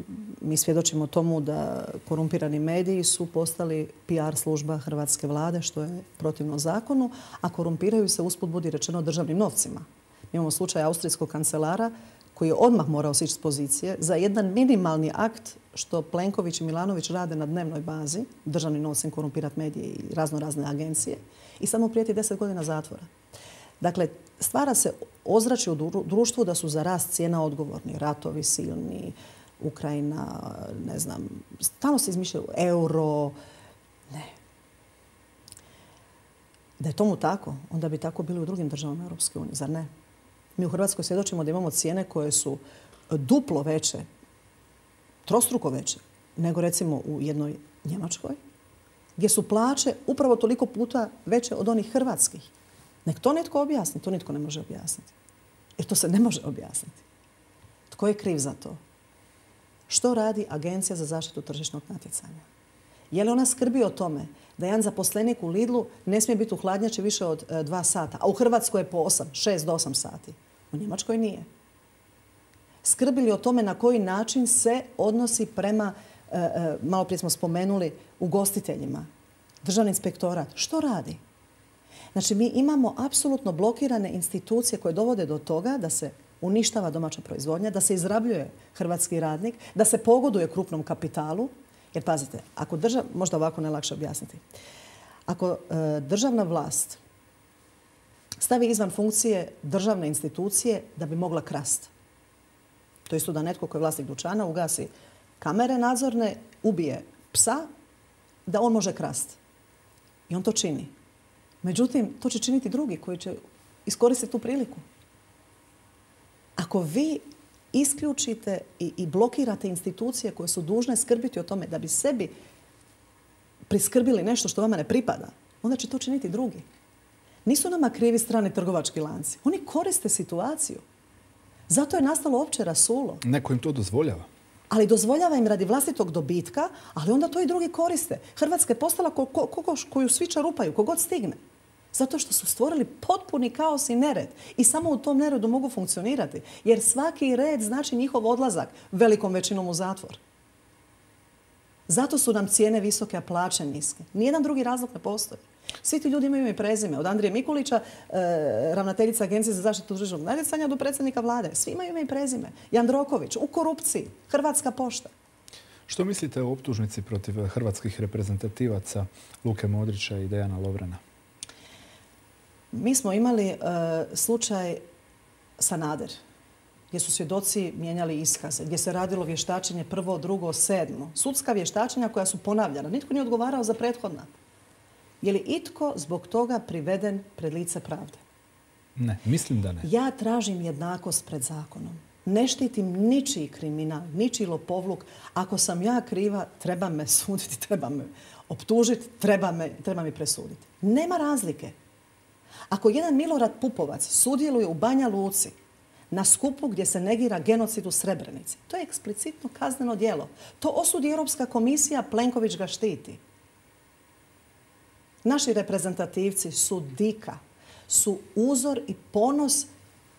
mi svjedočimo tomu da korumpirani mediji su postali PR služba hrvatske vlade, što je protivno zakonu, a korumpiraju se, usput budi rečeno, državnim novcima. Mi imamo slučaj austrijskog kancelara koji je odmah morao sići s pozicije za jedan minimalni akt što Plenković i Milanović rade na dnevnoj bazi, državnim novcem korumpirati medije i razne agencije, i samo prijeti 10 godina zatvora. Dakle, stvara se ozračje u društvu da su za rast cijena odgovorni. Ratovi silni, Ukrajina, ne znam, stalno se izmišljaju euro. Ne. Da je tomu tako, onda bi tako bili u drugim državama Europske unije, zar ne? Mi u Hrvatskoj svjedočimo da imamo cijene koje su duplo veće, trostruko veće, nego recimo u jednoj Njemačkoj, gdje su plaće upravo toliko puta veće od onih hrvatskih. Nek to netko objasni, to nitko ne može objasniti. Jer to se ne može objasniti. Tko je kriv za to? Što radi Agencija za zaštitu tržišnog natjecanja? Je li ona skrbi o tome da jedan zaposlenik u Lidlu ne smije biti u hladnjači više od 2 sata, a u Hrvatskoj je po 6 do 8 sati? U Njemačkoj nije. Skrbi li o tome na koji način se odnosi prema, malo prije smo spomenuli, ugostiteljima? Državni inspektorat. Što radi? Znači, mi imamo apsolutno blokirane institucije koje dovode do toga da se uništava domaća proizvodnja, da se izrabljuje hrvatski radnik, da se pogoduje krupnom kapitalu. Jer pazite, ako možda ovako najlakše objasniti. Ako državna vlast stavi izvan funkcije državne institucije da bi mogla krasti. To je isto da netko koji je vlasnik dućana ugasi kamere nadzorne, ubije psa, da on može krasti. I on to čini. Međutim, to će činiti drugi koji će iskoristiti tu priliku. Ako vi isključite i blokirate institucije koje su dužne skrbiti o tome da bi sebi priskrbili nešto što vama ne pripada, onda će to činiti drugi. Nisu nama krivi strani trgovački lanci. Oni koriste situaciju. Zato je nastalo opće rasulo. Neko im to dozvoljava. Ali dozvoljava im radi vlastitog dobitka, ali onda to i drugi koriste. Hrvatska je postala koju svi čarupaju, kogod stigne. Zato što su stvorili potpuni kaos i nered. I samo u tom neredu mogu funkcionirati. Jer svaki red znači njihov odlazak velikom većinom u zatvor. Zato su nam cijene visoke, a plaće niske. Nijedan drugi razlog ne postoji. Svi ti ljudi imaju ime i prezime. Od Andrije Mikulića, ravnateljica Agencije za zaštitu tržišnog natjecanja, do predsjednika vlade. Svi imaju ime i prezime. Jandroković, u korupciji, Hrvatska pošta. Što mislite o optužnici protiv hrvatskih reprezentativaca Luke Modrića i Dejana Lovrana? Mi smo imali slučaj Sanader, gdje su svjedoci mijenjali iskaze, gdje se radilo vještačenje 1., 2., 7. Sudska vještačenja koja su ponavljana. Nitko nije odgovarao za prethodna. Je li itko zbog toga priveden pred lice pravde? Ne, mislim da ne. Ja tražim jednakost pred zakonom. Ne štitim ničiji kriminal, ničiji lopovluk. Ako sam ja kriva, treba me suditi, treba me optužiti, treba mi presuditi. Nema razlike. Ako jedan Milorad Pupovac sudjeluje u Banja Luci na skupu gdje se negira genocid u Srebrenici, to je eksplicitno kazneno djelo. To osudi Europska komisija, Plenković ga štiti. Naši reprezentativci su dika, su uzor i ponos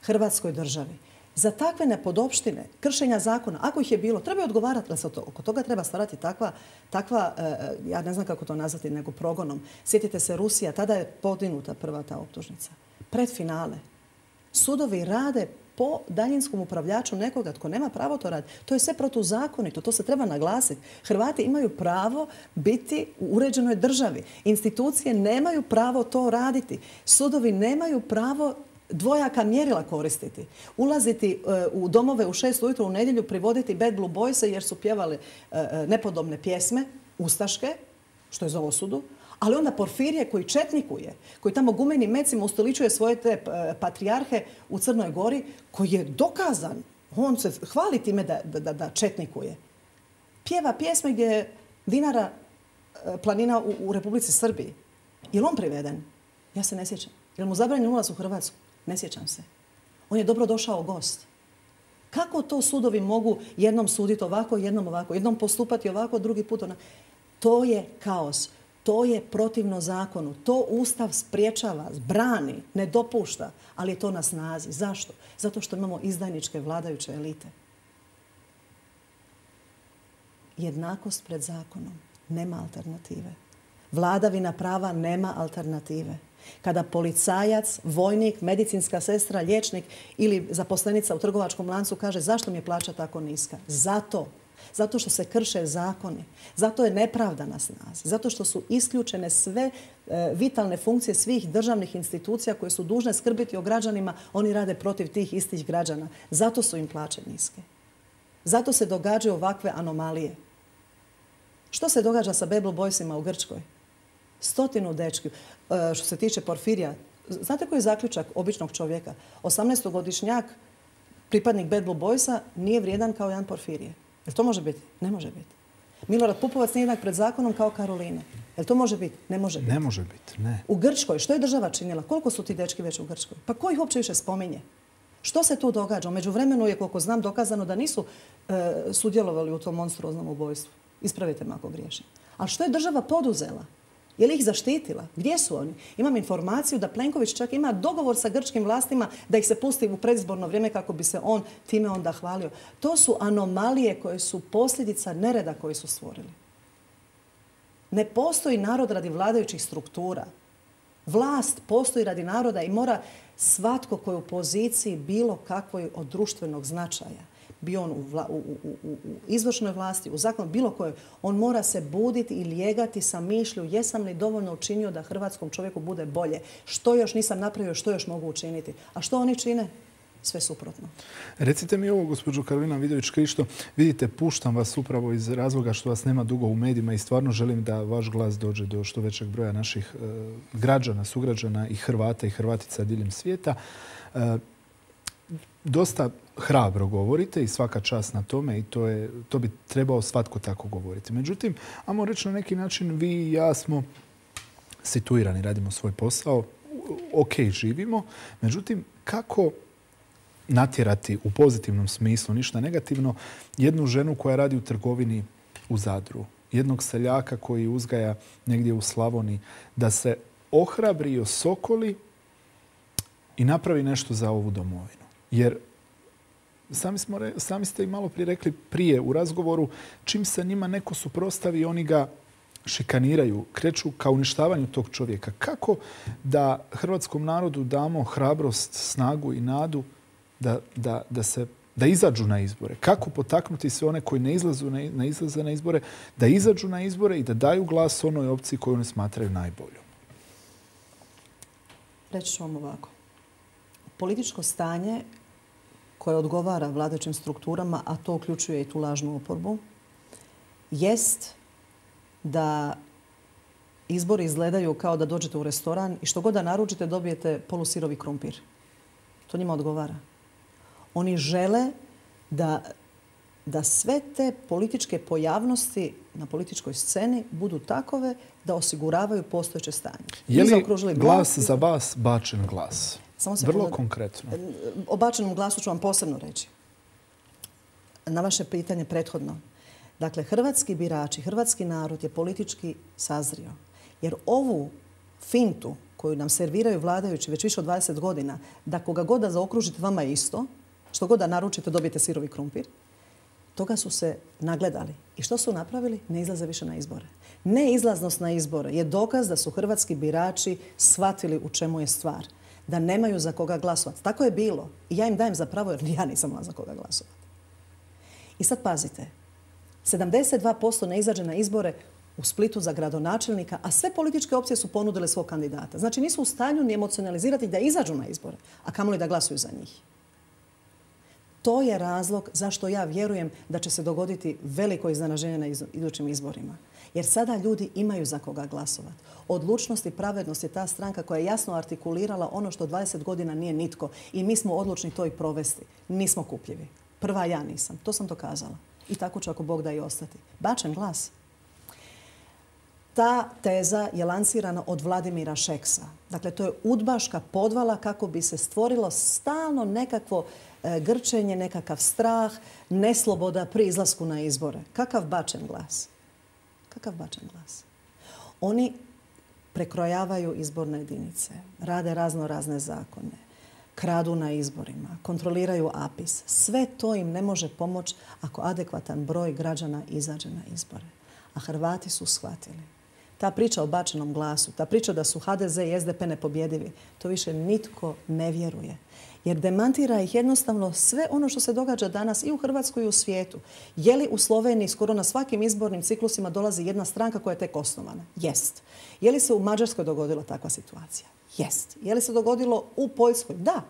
Hrvatskoj državi. Za takve nepodopštine, kršenja zakona, ako ih je bilo, treba odgovarati, ali se oko toga treba stvarati takva, ja ne znam kako to nazvati, nego progonom. Sjetite se Rusija, tada je podignuta prva ta optužnica. Pred finale. Sudovi rade po daljinskom upravljaču nekoga tko nema pravo to raditi. To je sve protuzakonito, to se treba naglasiti. Hrvati imaju pravo biti u uređenoj državi. Institucije nemaju pravo to raditi. Sudovi nemaju pravo dvojaka mjerila koristiti. Ulaziti u domove u 6 ujutro u nedjelju, privoditi Bad Blue Boyse jer su pjevali nepodobne pjesme, ustaške, što je za osudu, ali onda Porfirije koji četnikuje, koji tamo gumenim mecima ustoličuje svoje te patrijarhe u Crnoj Gori, koji je dokazan, on se hvali time da četnikuje. Pjeva pjesme gdje je Dinara planina u Republici Srbiji. Je li on priveden? Ja se ne sjećam. Je li mu zabranjen ulaz u Hrvatsku? Ne sjećam se. On je dobro došao gost. Kako to sudovi mogu jednom suditi ovako, jednom ovako, jednom postupati ovako, drugi put onako? To je kaos. To je protivno zakonu. To Ustav spriječava, brani, ne dopušta, ali je to na snazi. Zašto? Zato što imamo izdajničke vladajuće elite. Jednakost pred zakonom. Nema alternative. Vladavina prava nema alternative. Kada policajac, vojnik, medicinska sestra, liječnik ili zaposlenica u trgovačkom lancu kaže zašto mi je plaća tako niska? Zato Zato što se krše zakoni. Zato je nepravda na snazi. Zato što su isključene sve vitalne funkcije svih državnih institucija koje su dužne skrbiti o građanima. Oni rade protiv tih istih građana. Zato su im plaće niske. Zato se događaju ovakve anomalije. Što se događa sa Bad Blue Boysima u Grčkoj? 100 dečki. Što se tiče Porfirija, znate koji je zaključak običnog čovjeka? 18-godišnjak, pripadnik Bad Blue Boysa, nije vrijedan kao Jan Porfirije. Jel to može biti? Ne može biti. Milorad Pupovac nije jednak pred zakonom kao Karoline. Jel to može biti? Ne može biti. Ne može biti, ne. U Grčkoj, što je država činila? Koliko su ti dečki već u Grčkoj? Pa ko ih uopće više spominje? Što se tu događa? U međuvremenu je, koliko znam, dokazano da nisu sudjelovali u tom monstruoznom ubojstvu. Ispravite me ako griješim. Ali što je država poduzela? Je li ih zaštitila? Gdje su oni? Imam informaciju da Plenković čak ima dogovor sa grčkim vlastima da ih se pusti u predizborno vrijeme kako bi se on time onda hvalio. To su anomalije koje su posljedica nereda koji su stvorili. Ne postoji narod radi vladajućih struktura. Vlast postoji radi naroda i mora svatko koji je u poziciji bilo kakvoj od društvenog značaja, bio on u izvršnoj vlasti, u zakonu, bilo kojoj, on mora se buditi i lijegati sa mišlju jesam li dovoljno učinio da hrvatskom čovjeku bude bolje. Što još nisam napravio, što još mogu učiniti. A što oni čine? Sve suprotno. Recite mi ovo, gospođo Karolina Vidović-Krišto. Vidite, puštam vas upravo iz razloga što vas nema dugo u medijima i stvarno želim da vaš glas dođe do što većeg broja naših građana, sugrađana i Hrvata i Hrvatica diljem svijeta. Dosta hrabro govorite i svaka čast na tome i to bi trebao svatko tako govoriti. Međutim, ajmo reći na neki način, vi i ja smo situirani, radimo svoj posao, ok, živimo. Međutim, kako natjerati u pozitivnom smislu, ništa negativno, jednu ženu koja radi u trgovini u Zadru, jednog seljaka koji uzgaja negdje u Slavoniji, da se ohrabri i osokoli i napravi nešto za ovu domovinu. Jer sami ste i malo prije rekli prije u razgovoru, čim se njima neko suprotstavi, oni ga šikaniraju, kreću ka uništavanju tog čovjeka. Kako da hrvatskom narodu damo hrabrost, snagu i nadu da izađu na izbore? Kako potaknuti sve one koji ne izlaze na izbore, da izađu na izbore i da daju glas onoj opciji koju oni smatraju najboljom? Reći ću vam ovako. Političko stanje koje odgovara vladajućim strukturama, a to uključuje i tu lažnu oporbu, jest da izbori izgledaju kao da dođete u restoran i što god da naručite dobijete polusirovi krumpir. To njima odgovara. Oni žele da sve te političke pojavnosti na političkoj sceni budu takove da osiguravaju postojeće stanje. Je li glas za vas bačen glas? Vrlo konkretno. O bačenom glasu ću vam posebno reći. Na vaše pitanje prethodno. Dakle, hrvatski birači, hrvatski narod je politički sazrio. Jer ovu fintu koju nam serviraju vladajući već više od 20 godina, da koga god da zaokružite vama je isto, što god da naručite dobijete sirovi krumpir, toga su se nagledali. I što su napravili? Ne izlaze više na izbore. Neizlaznost na izbore je dokaz da su hrvatski birači shvatili u čemu je stvar. Da nemaju za koga glasovati. Tako je bilo. I ja im dajem za pravo jer ja nisam imala za koga glasovati. I sad pazite. 72% ne izađe na izbore u Splitu za gradonačelnika, a sve političke opcije su ponudile svog kandidata. Znači nisu u stanju ni emocionalizirati da izađu na izbore, a kamoli da glasuju za njih. To je razlog zašto ja vjerujem da će se dogoditi veliko iznenađenje na idućim izborima. Jer sada ljudi imaju za koga glasovati. Odlučnost i pravednost je ta stranka koja je jasno artikulirala ono što 20 godina nije nitko. I mi smo odlučni to i provesti. Nismo kupljivi. Prva ja nisam. To sam dokazala. I tako će ako Bog da i ostati. Bačen glas. Ta teza je lansirana od Vladimira Šeksa. Dakle, to je udbaška podvala kako bi se stvorilo stalno nekakvo grčenje, nekakav strah, nesloboda pri izlasku na izbore. Kakav bačen glas? Kakav bačen glas? Oni prekrojavaju izborne jedinice, rade razne zakone, kradu na izborima, kontroliraju APIS. Sve to im ne može pomoći ako adekvatan broj građana izađe na izbore. A Hrvati su shvatili. Ta priča o bačenom glasu, ta priča da su HDZ i SDP nepobjedivi, to više nitko ne vjeruje. Jer demantira ih jednostavno sve ono što se događa danas i u Hrvatskoj i u svijetu. Je li u Sloveniji skoro na svakim izbornim ciklusima dolazi jedna stranka koja je tek osnovana? Jest. Je li se u Mađarskoj dogodila takva situacija? Jest. Je li se dogodilo u Poljskoj? Da.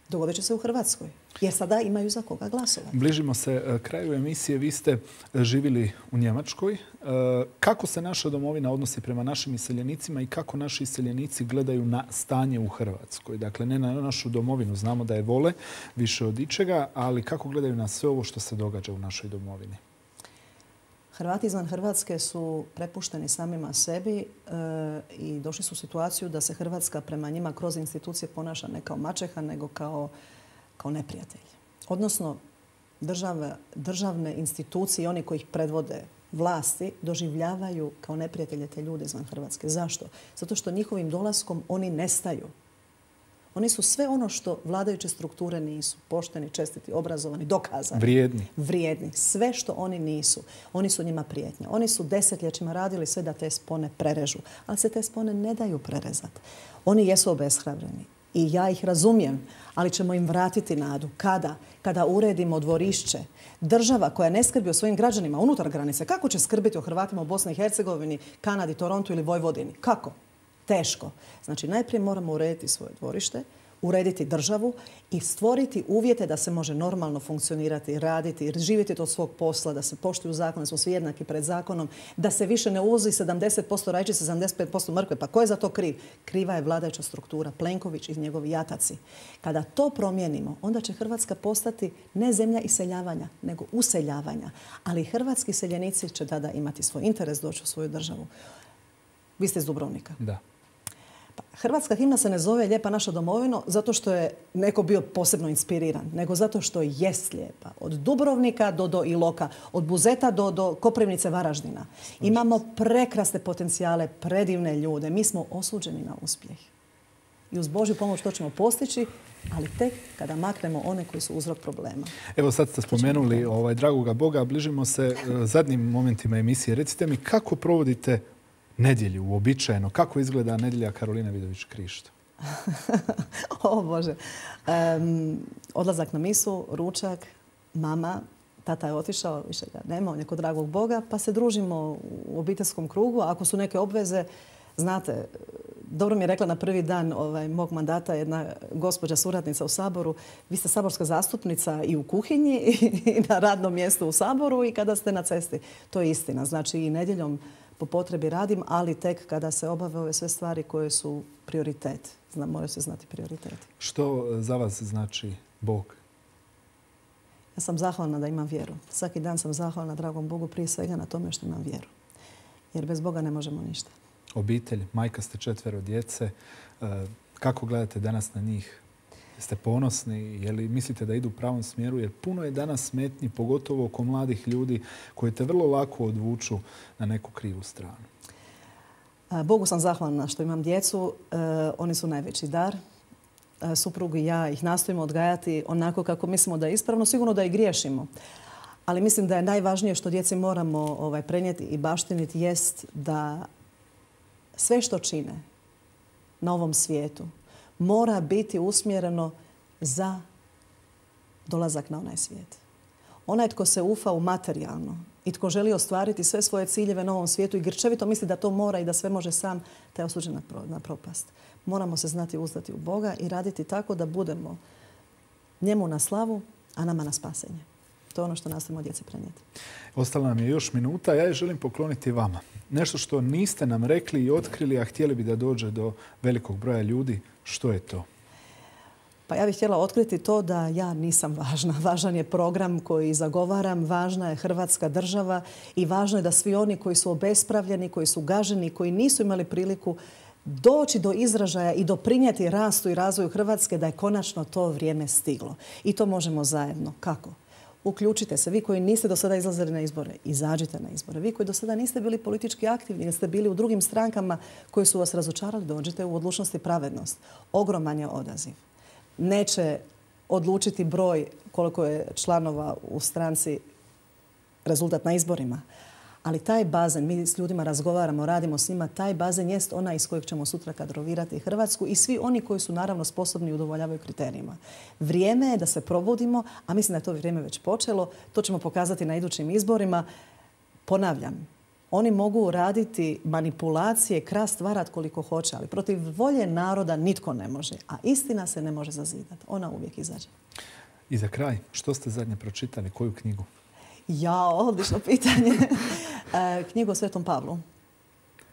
Dogodit će se u Hrvatskoj. Jer sada imaju za koga glasovati. Bližimo se kraju emisije. Vi ste živjeli u Njemačkoj. Kako se naša domovina odnosi prema našim iseljenicima i kako naši iseljenici gledaju na stanje u Hrvatskoj? Dakle, ne na našu domovinu. Znamo da je vole više od ičega, ali kako gledaju na sve ovo što se događa u našoj domovini? Hrvati izvan Hrvatske su prepušteni samima sebi i došli su u situaciju da se Hrvatska prema njima kroz institucije ponaša ne kao maćeha, nego kao neprijatelj. Odnosno, državne institucije i oni koji ih predvode vlasti doživljavaju kao neprijatelje te ljude izvan Hrvatske. Zašto? Zato što njihovim dolaskom oni nestaju. Oni su sve ono što vladajuće strukture nisu. Pošteni, čestiti, obrazovani, dokazani. Vrijedni. Sve što oni nisu. Oni su njima prijetnja. Oni su desetljećima radili sve da te spone prerežu. Ali se te spone ne daju prerezati. Oni jesu obeshrabreni. I ja ih razumijem, ali ćemo im vratiti nadu. Kada? Kada uredimo dvorišće. Država koja ne skrbi o svojim građanima unutar granice, kako će skrbiti o Hrvatima u Bosni i Hercegovini, Kanadi, Torontu ili Vojvodini? Kako? Teško. Znači, najprije moramo urediti svoje dvorište, urediti državu i stvoriti uvjete da se može normalno funkcionirati, raditi, živjeti od svog posla, da se poštuju zakone, da smo svi jednaki pred zakonom, da se više ne uvozi 70% rajčice, 75% mrkve. Pa ko je za to kriv? Kriva je vladajuća struktura, Plenković i njegovi jataci. Kada to promijenimo, onda će Hrvatska postati ne zemlja iseljavanja, nego useljavanja. Ali hrvatski iseljenici će tada imati svoj interes doći u svoju državu. Vi ste iz Dubrovnika. Da. Hrvatska himna se ne zove Lijepa naša domovino zato što je neko bio posebno inspiriran, nego zato što jest lijepa. Od Dubrovnika do Iloka, od Buzeta do Koprivnice, Varaždina. Imamo prekrasne potencijale, predivne ljude. Mi smo osuđeni na uspjeh. I uz Božju pomoć to ćemo postići, ali tek kada maknemo one koji su uzrok problema. Evo sad ste spomenuli dragoga Boga, bližimo se zadnjim momentima emisije. Recite mi kako provodite nedjelju uobičajeno? Kako izgleda nedjelja Karoline Vidović Krišto? O Bože. Odlazak na misu, ručak, mama, tata je otišao, više ga nema, on je kod dragog Boga, pa se družimo u obiteljskom krugu. Ako su neke obveze, znate, dobro mi je rekla na prvi dan mog mandata jedna gospođa suradnica u Saboru, vi ste saborska zastupnica i u kuhinji i na radnom mjestu u Saboru i kada ste na cesti. To je istina. Znači i nedjeljom po potrebi radim, ali tek kada se obave ove sve stvari koje su prioritet. Moraju se znati prioriteti. Što za vas znači Bog? Ja sam zahvalna da imam vjeru. Svaki dan sam zahvalna dragom Bogu prije svega na tome što imam vjeru. Jer bez Boga ne možemo ništa. Obitelj, majka ste 4 djece. Kako gledate danas na njih? Jeste ponosni? Je li mislite da idu u pravom smjeru? Jer puno je danas smetnji, pogotovo oko mladih ljudi koji te vrlo lako odvuču na neku krivu stranu. Bogu sam zahvalna što imam djecu. Oni su najveći dar. Suprug i ja ih nastojimo odgajati onako kako mislimo da je ispravno. Sigurno da i griješimo. Ali mislim da je najvažnije što djeci moramo prenijeti i baštiniti jest da sve što čine na ovom svijetu mora biti usmjereno za dolazak na onaj svijet. Onaj tko se ufa u materijalno i tko želi ostvariti sve svoje ciljeve na ovom svijetu i grčevito misli da to mora i da sve može sam, taj je osuđen na propast. Moramo se znati uzdati u Boga i raditi tako da budemo njemu na slavu, a nama na spasenje. To je ono što nastavimo djeci prenijeti. Ostala nam je još minuta. Ja je želim pokloniti vama. Nešto što niste nam rekli i otkrili, a htjeli bi da dođe do velikog broja ljudi. Što je to? Pa ja bih htjela otkriti to da ja nisam važna. Važan je program koji zagovaram, važna je Hrvatska država i važno je da svi oni koji su obespravljeni, koji su gaženi, koji nisu imali priliku doći do izražaja i doprinijeti rastu i razvoju Hrvatske, da je konačno to vrijeme stiglo. I to možemo zajedno. Kako? Uključite se. Vi koji niste do sada izlazili na izbore, izađite na izbore. Vi koji do sada niste bili politički aktivni, jer ste bili u drugim strankama koji su vas razočarali, dođite u Odlučnost i pravednost. Ogroman je odaziv. Neće odlučiti broj koliko je članova u stranci rezultat na izborima, Ali taj bazen, mi s ljudima razgovaramo, radimo s njima, taj bazen jest onaj iz kojeg ćemo sutra kadrovirati Hrvatsku i svi oni koji su naravno sposobni i udovoljavaju kriterijima. Vrijeme je da se probudimo, a mislim da je to vrijeme već počelo. To ćemo pokazati na idućim izborima. Ponavljam, oni mogu raditi manipulacije, krast, varat koliko hoće, ali protiv volje naroda nitko ne može. A istina se ne može zazidati. Ona uvijek izađe. I za kraj, što ste zadnje pročitali? Koju knjigu? Odlično pitanje. Knjigu o Svetom Pavlu.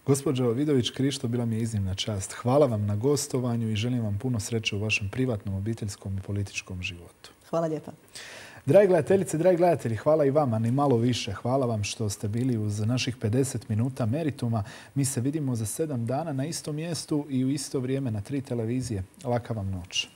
Gospođo Vidović-Krišto, bila mi je iznimna čast. Hvala vam na gostovanju i želim vam puno sreće u vašem privatnom, obiteljskom i političkom životu. Hvala lijepa. Dragi gledateljice, dragi gledatelji, hvala i vama, ni malo više. Hvala vam što ste bili uz naših 50 minuta Merituma. Mi se vidimo za 7 dana na istom mjestu i u isto vrijeme na 3 televizije. Laka vam noć.